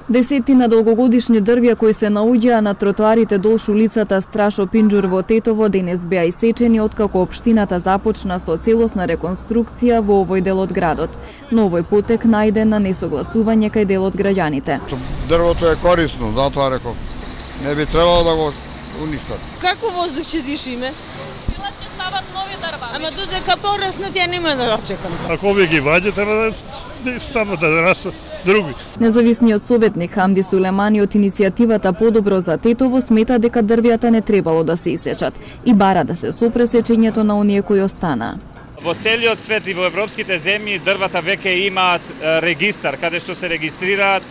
Десетина долгогодишни дрвја кои се наоѓаа на тротоарите долж улицата Страшо Пинџур во Тетово денес беа исечени откако општината започна со целосна реконструкција во овој дел од градот. Но овој потек најде на несогласување кај дел од граѓаните. Дрвото е корисно, затоа реков. Не би требало да го уништат. Како воздух ќе дишиме? Билат ќе стават нови дрва. Ама додека пораснат ја нема да го чекам. Ако овие ги ваѓа, треба да стават да растат други. Независниот советник Хамди Сулемани од иницијативата Подобро за Тетово смета дека дрвјата не требало да се исечат и бара да се сопре сечењето на оние кои останаа. Во целиот свет и во европските земји дрвата веќе имаат регистар каде што се регистрираат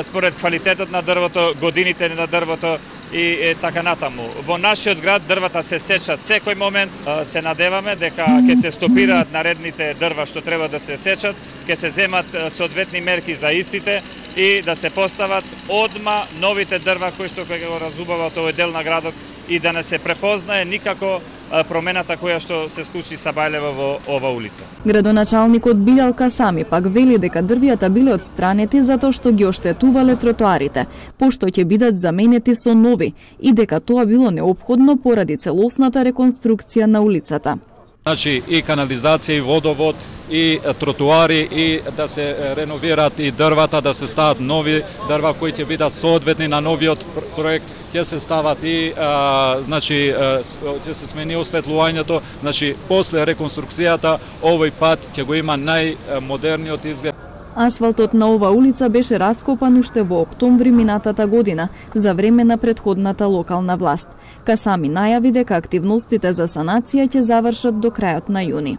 според квалитетот на дрвото, годините на дрвото и така натаму. Во нашиот град дрвата се сечат секој момент. Се надеваме дека ќе се стопираат наредните дрва што треба да се сечат, ќе се земат соодветни мерки за истите и да се постават одма новите дрва кои што ќе го разубават овој дел на градот и да не се препознае никако промената која што се случи са Бајлева во ова улица. Градоначалникот Билал Касами пак вели дека дрвјата биле отстранети затоа што ги оштетувале тротоарите, пошто ќе бидат заменети со нови и дека тоа било неопходно поради целосната реконструкција на улицата. Значи и канализација и водовод и тротуари и да се реновираат и дрвата, да се стават нови дрва кои ќе бидат соодветни на новиот проект, ќе се стават и значи ќе се смени осветлувањето, значи после реконструкцијата овој пат ќе го има најмодерниот изглед. Асфалтот на ова улица беше раскопан уште во октомври минатата година за време на претходната локална власт. Касами најави дека активностите за санација ќе завршат до крајот на јуни.